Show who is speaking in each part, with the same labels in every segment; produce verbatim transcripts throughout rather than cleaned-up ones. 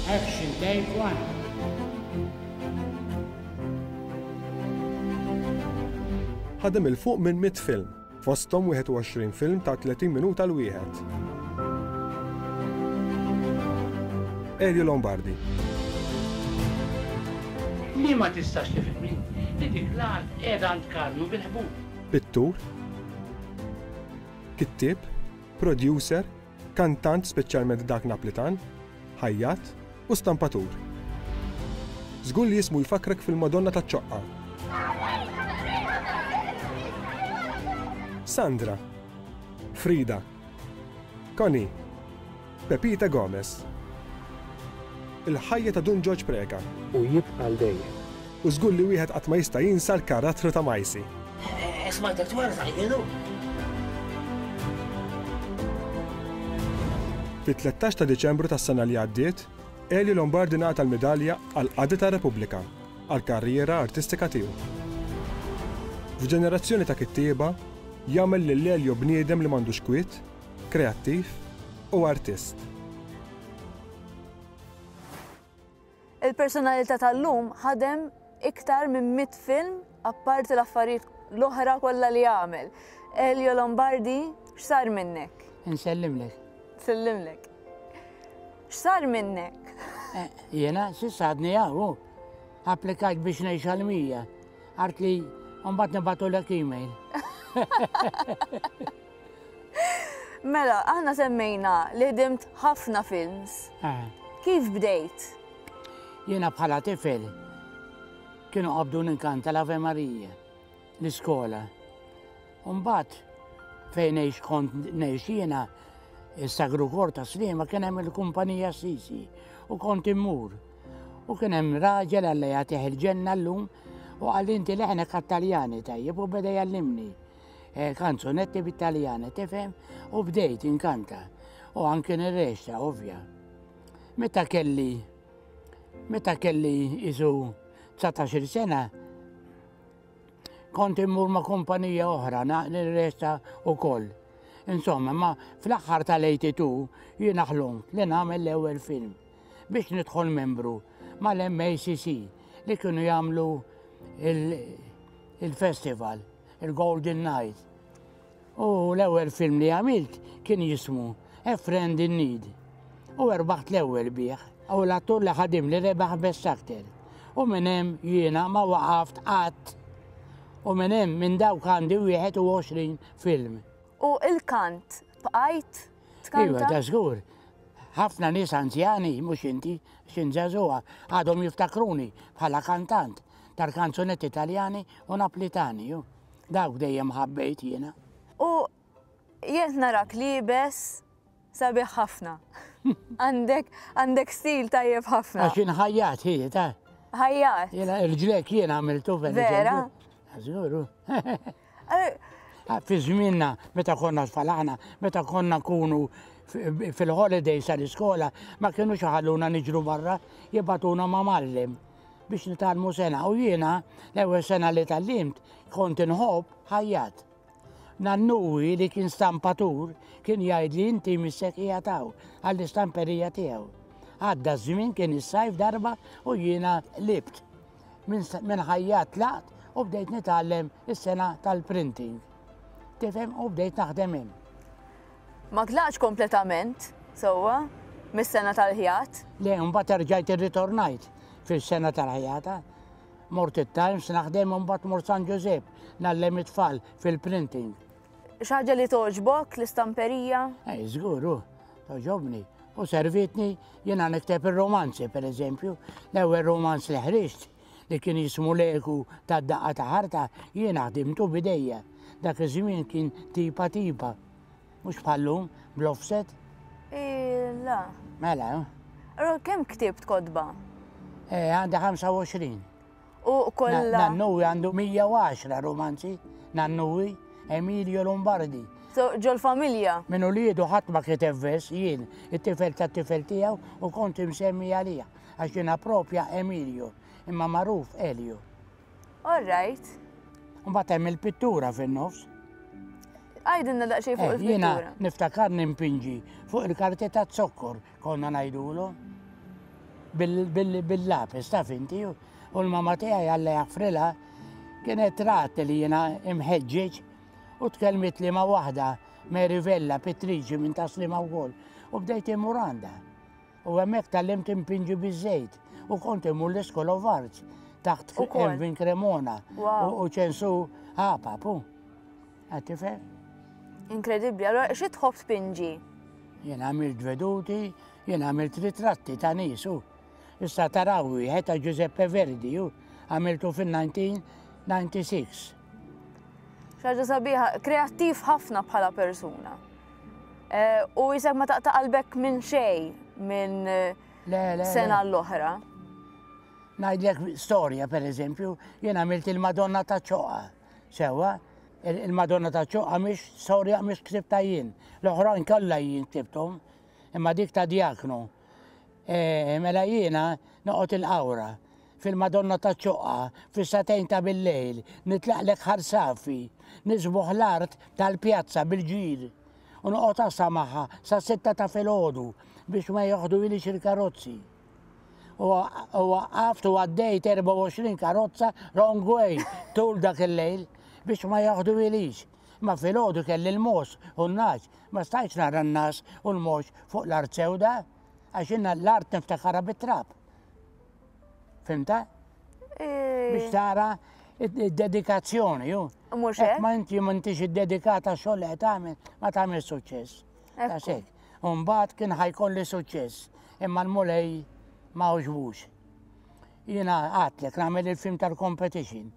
Speaker 1: Action, take one.
Speaker 2: Ħadem 'il fuq minn mitt film, fosthom wieħed u għoxrin film ta' tletin minuta l-wieħed. Elio Lombardi.
Speaker 1: Li ma tistax tifhimni li dik l-art qiegħda għand Karnu bil-ħbub.
Speaker 2: Pittur, kittieb, producer, kantant speċjalment dak Naplitan, ħajjat u stampatur. Żgur li jismu jfakkrek fil-Madonna taċ-Ċoqqa. Sandra, Frida, Connie, Pepita Gomez. Il-ħajja ta' Dun Ġorġ Preca.
Speaker 3: U jibqa' għal dejjem.
Speaker 2: U żgur li wieħed qatt ma jista' jinsa l-karattru ta' Majsi.
Speaker 4: Smajtek twerżaq jienu.
Speaker 2: Fit-tlettax ta' Diċembru tas-sena li għaddiet, Elio Lombardi ngħata l-midalja għal qadi tar-Repubblika għall-karriera artistika tiegħu. F'ġenerazzjoni ta' kittieba, jagħmel lil Elio bniedem li m'għandux kwiet, kreattiv u artist.
Speaker 5: Il-personalità tal-lum ħadem iktar minn mitt film apparti l-affarijiet l-oħra kollha li għamel. Elio Lombardi, x'sar minnek?
Speaker 1: Insellimlek.
Speaker 5: Sellimlek. X'sar minnek?
Speaker 1: Eh, jiena s'issa għadni hawn, applikajt biex ngħix għal mija. Għart li mbagħad nibgħatulek email.
Speaker 5: Mela, aħna semmejna li ħdimt ħafna films.
Speaker 1: Eh.
Speaker 5: Kif bdejt?
Speaker 1: Jiena bħala tifel kienu qabdu ninkanta l-Ave Maria l-iskola. Mbagħad fejn ngħix kont ngħix jiena is-Sagru Kor ta' Sliema kien hemm il-kumpanija Sisi u kont immur. U kien hemm raġel Alla jagħtih il-ġenna llum u qal inti leħnek għat-Taljani tajjeb u beda jgħallimni. Eh, kanzunetti bit-Taljani, tifhem? U bdejt inkanta. U anke nirrexta, ovvja. Meta kelli meta kelli isu dsatax-il sena, kont immur ma' kumpanija oħra, na-, nirrexta wkoll. Insomma, ma fl-aħħar tal-eighty-two jiena ħlomt li nagħmel l-ewwel film biex nidħol membru mal-M A C C li kienu jagħmlu il-, il-festival, il-Golden Night. U l-ewwel film li għamilt kien jismu A Friend in Need. U erbaħt l-ewwel bih. U l-attur li ħadim li rebaħ Best Actor. U minn hemm jiena ma waqaft qatt. U minn hemm minn dawk għandi wieħed u għoxrin film.
Speaker 5: U il-kant bqajt tkanta?
Speaker 1: Iva, da żgur. Ħafna nies anzjani, mhux inti, x'in żagħżugħa, għadhom jiftakruni bħala kantant tal-kanzunetti Taljani u Naplitani. Ju. Dawk dejjem ħabbejt jiena.
Speaker 5: U jien narak liebes sabiħ ħafna. Għandek, għandek stil tajjeb ħafna.
Speaker 1: Għax inħajjat hi, ta'
Speaker 5: Ħajjat.
Speaker 1: Jiena il-ġlek jien għamiltu per
Speaker 5: Vera?
Speaker 1: eżempju. Żguru. Fi żmienna, meta konna tfal aħna, meta konna nkunu fi-, fil-holidays tal-iskola, ma kienux ħalluna niġru barra, jibatuna ma' mallem biex nitgħallmu sena. U jiena, l-ewwel sena li tgħallimt, kont inħobb ħajjat. Nannuwi li kien stampatur kien jgħid li inti missek qiegħed hawn għall-istamperija tiegħu. Għadda ż-żmien kien is-sajf darba u jiena libt. Minn sa-, minn ħajjat tlaqt u bdejt nitgħallem is-sena tal-printing. Tifhem, u bdejt naħdem hemm.
Speaker 5: Ma tlaqx kompletament, sewwa, mis-sena tal-ħjat?
Speaker 1: Le, mbagħad erġajt irritornajt fis-sena tal-ħjata. Mort it-Times naħdem u mbagħad mort San Ġużepp ngħallem it-tfal fil-printing.
Speaker 5: Xi ħaġa li togħġbok l-istamperija?
Speaker 1: Ej, żgur, hu, togħġobni. U servitni jiena nikteb ir-romanzi, per eżempju. L-ewwel romanz li ħriġt li kien jismu L-Eku tad-daqqa ta' ħarta, jiena ħdimtu bidejja. Dak iż-żmien kien tipa tipa. Mhux bħallum, bl-offset.
Speaker 5: Illa.
Speaker 1: Mela, eh?
Speaker 5: Allora, kemm ktibt kotba?
Speaker 1: Eh, għandi ħamsa u għoxrin.
Speaker 5: U kollha
Speaker 1: Na-, Nannuwi għandu mija u għaxra romanzi, Nannuwi, Emilio Lombardi.
Speaker 5: So, ġol familja?
Speaker 1: Min uliedu ħadd ma kiteb vers, jien, it-tifel tat-tifel tiegħu u kont imsemmi għalih, għax jiena propja Emilio, imma magħruf Elio.
Speaker 5: All right.
Speaker 1: Mbagħad hemm il-pittura fin-nofs.
Speaker 5: Għajdilna daqsxejn fuq
Speaker 1: Eh, jiena
Speaker 5: il-pittura.
Speaker 1: niftakar nimpinġi fuq il-karti ta' zokkor konna ngħidulu. bil-lapis, taf inti, u l-mama tiegħi Alla jaħfrilha kienet rat li jiena imħeġġeġ u tkellmet li ma' waħda Mary Vella pittriċi minn Tas-Sliema wkoll u bdejt immur għandha. U hemmhekk tgħallimt impinġi biż-żejt u kont immur l-School of Arts taħt Ervin Cremona u Ċensu Apap. Qed tifhem?
Speaker 5: Inkredibbli, allora xi tħobb tpinġi?
Speaker 1: Jien għamilt veduti, jien għamilt ritratti ta' nies u. Issa taraw wieħed ta' Giuseppe Verdi u għamiltu fin-nineteen ninety-six.
Speaker 5: Xi ħaġa sabiħa, kreattiv ħafna bħala persuna. U jisek ma taqta' qalbek minn xejn minn sena l-oħra.
Speaker 1: Ngħidlek storja, per eżempju, jien għamilt il-Madonna ta' Ċoqa. Sewa, il-Madonna ta' Ċoqa mhix storja mhix ktibta jien. L-oħrajn kollha jien ktibthom, imma dik ta' Diaknu. Mela jiena noqgħod il-qawra fil-Madonna ta' Ċoqa, fis-satejn ta' bil-lejl, nitlaqlek ħarsafi, nisbuħ l-art tal-pjazza bil-ġir. U noqgħod għassa magħha sa sitta ta' filgħodu biex ma joħdu ilix il-karozzi. U waqqaft u għaddejt erbgħa u għoxrin karozza wrong way tul dak il-lejl biex ma joħdu ilix. Ma filgħodu kelli l-mos u n-naċ, ma stajtx nara n-nas u l-mos fuq l-art sewda, għax inna l-art niftakara bit-trab. Fimta? Biex tara id-dedikazzjoni, ju.
Speaker 5: Mhux hekk?
Speaker 1: Ma inti m'intix iddedikata xogħol li qed tagħmel, ma tagħmel suċċess. Daqshekk. U mbagħad kien ħajkolli suċċess, imma l-Mulej ma għoġbux. Jiena għadtlek nagħmel il-film tal-competition.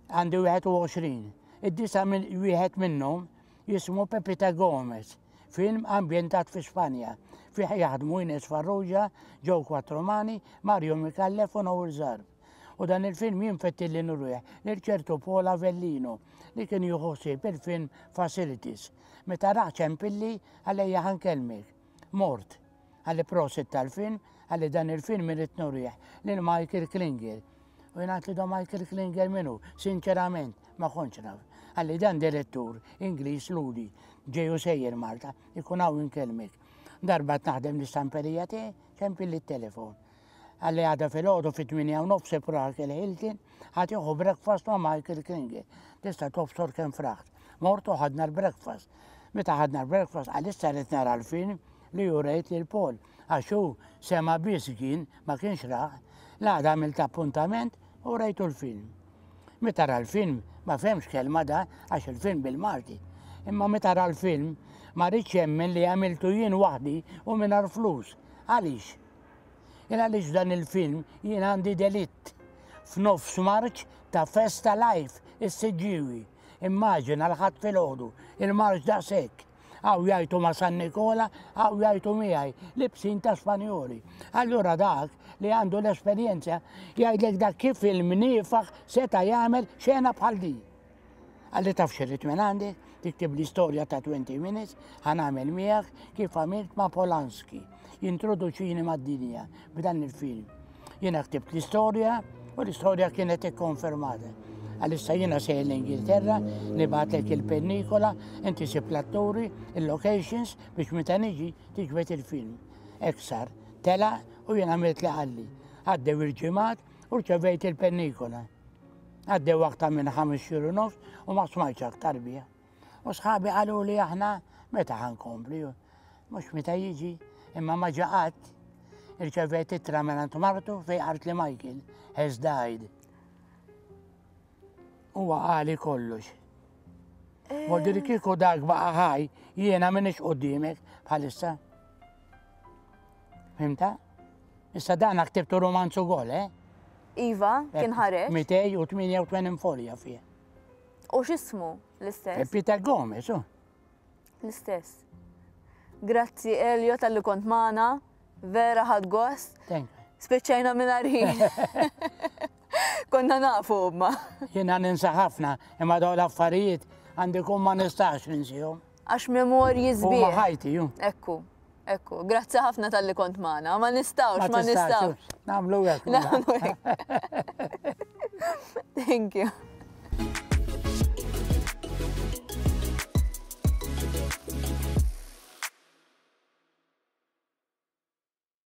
Speaker 1: Għandi wieħed u għoxrin. Id-disa wieħed minnhom jismu Pepita Gomez, film ambjentat fi Spanja. Fih jaħdmu Ines Farrugia, Joe Quattromani, Mario Micallef u Noel Zarb. U dan il-film jinfetti li nurruħ lil ċertu Paul Avellino li kien jieħu ħsieb il-film Facilities. Meta raħ ċempilli għalejja ħankellmek. Mort, għalli prosit tal-film, għalli dan il-film irrid nurriħ lil Michael Klinger. U jien għedt li do Michael Klinger minnu, sinċerament, ma kontx naf. Għalli dan direttur Ingliż Ludi, ġeju sejjer Malta, ikun hawn inkellmek. Darba naħdem l-istamperija tiegħi, ċempilli t-telefon. Għalli għada fil-ħodu fit-tmienja u nofs Park Hilton, ħa tieħu breakfast ma' Michael Klinger. Tista' tobsor kemm fraħt. Mortu ħadna l-breakfast. Meta ħadna l-breakfast, għalissa rrid nara l-film li jurejt lil Paul. Għax hu sema biss kien, ma kienx raħ, l-għada għamilt appuntament u rejtu l-film. Meta ra l-film, ma fehmx kelma da, għax il-film bil-Malti. Imma meta ra l-film, ma rridx jemmen li għamiltu jien waħdi u mingħajr flus. Għaliex? Jien għaliex dan il-film jien għandi delitt f'nofs marċ ta' Festa Life is-Siġġiewi. Immaġina l-ħadd filgħodu, il-marċ daqshekk. Għaw jgħajtu ma' San Nikola, għaw jgħajtu miegħi, libsin ta' Spanjoli. Allura dak li għandu l-esperjenza jgħidlek dak kif il-mniefaħ seta' jagħmel xena bħal din. Għalli taf xirrit minn għandi, tiktib l-istorja ta' twenty minutes, ħanamel miegħek kif għamilt ma' Polanski. Jintroduċini mad-dinja b'dan il-film. Jiena ktibt l-istorja u l-istorja kienet ikkonfermata. Għalissa jiena sejjer l-Ingilterra, nibgħatlek il-pennikola, inti sib l-atturi, il-locations biex meta niġi tiġbed il-film. Hekk sar, tela u jiena għamilt li qalli. Għaddew il-ġimgħat u rċevejt il-pennikola. Għaddew aktar minn ħames xhur u nofs u ma smajtx aktar biha. U sħabi qalu li aħna meta ħankompli, mhux meta jiġi, imma ma ġa qatt. Irċevejt ittra minn martu fejn qalt li Michael has died. Huwa qali kollox. Voldiri kieku dak baqa' ħaj, jiena m'iniex quddiemek bħalissa. Fhimta? Issa dan ktibtu romanzu ukoll, eh?
Speaker 5: Iva, kien ħareġ.
Speaker 1: Mitej u tmienja u tmenin folja fih.
Speaker 5: U x'ismu l-istess?
Speaker 1: Pepita Gomez, u.
Speaker 5: L-istess. Grazzi Elio tal-li kont magħna, vera ħadt gost.
Speaker 1: Thank you.
Speaker 5: Spiċċajna mingħajr ħin. Konna nafu ma.
Speaker 1: Jiena ninsa ħafna, imma dawn l-affarijiet għandi kun ma nistax ninsihom.
Speaker 5: Għax memorji
Speaker 1: Huma
Speaker 5: sbieħ.
Speaker 1: ħajti, ju.
Speaker 5: Ekku, ekku. Grazzi ħafna tal-li kont magħna. Ma nistgħux, ma
Speaker 1: tistax,
Speaker 5: nistgħux.
Speaker 1: Nagħmlu hekk.
Speaker 5: Nagħmlu hekk. Thank you.